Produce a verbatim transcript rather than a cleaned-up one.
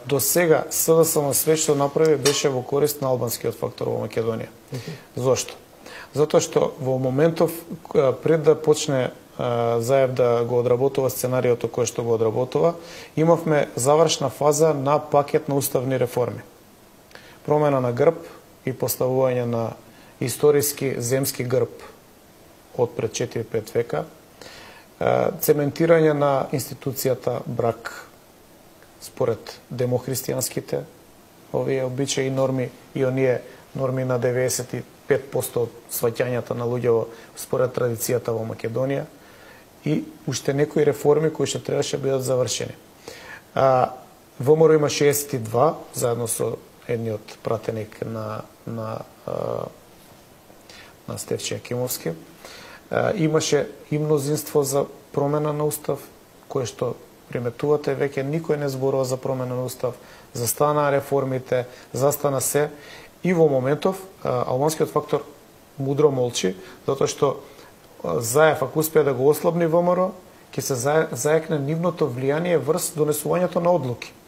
До сега СДСМ све што направи беше во корист на албанскиот фактор во Македонија. Зошто? Затоа што во моментов пред да почне Заев да го одработува сценариото кој што го одработува, имавме завршна фаза на пакет на уставни реформи. Промена на грб и поставување на историски земски грб од пред четири-пет века, цементирање на институцијата брак според демохристијанските овие обичаи и норми и оние норми на деветдесет и пет проценти од сваќањата на луѓе според традицијата во Македонија и уште некои реформи кои што требаше да бидат завршени. А, ВМРО има шеесет и два, заедно со едниот пратеник на, на, на Стефче Акимовски. А, имаше и мнозинство за промена на устав, кое што приметувате, веќе никој не зборува за промена на устав, застана реформите, застана се и во моментов албанскиот фактор мудро молчи, затоа што Заев, ако успее да го ослабни ВМРО, ќе се заекне нивното влијание врз донесувањето на одлуки.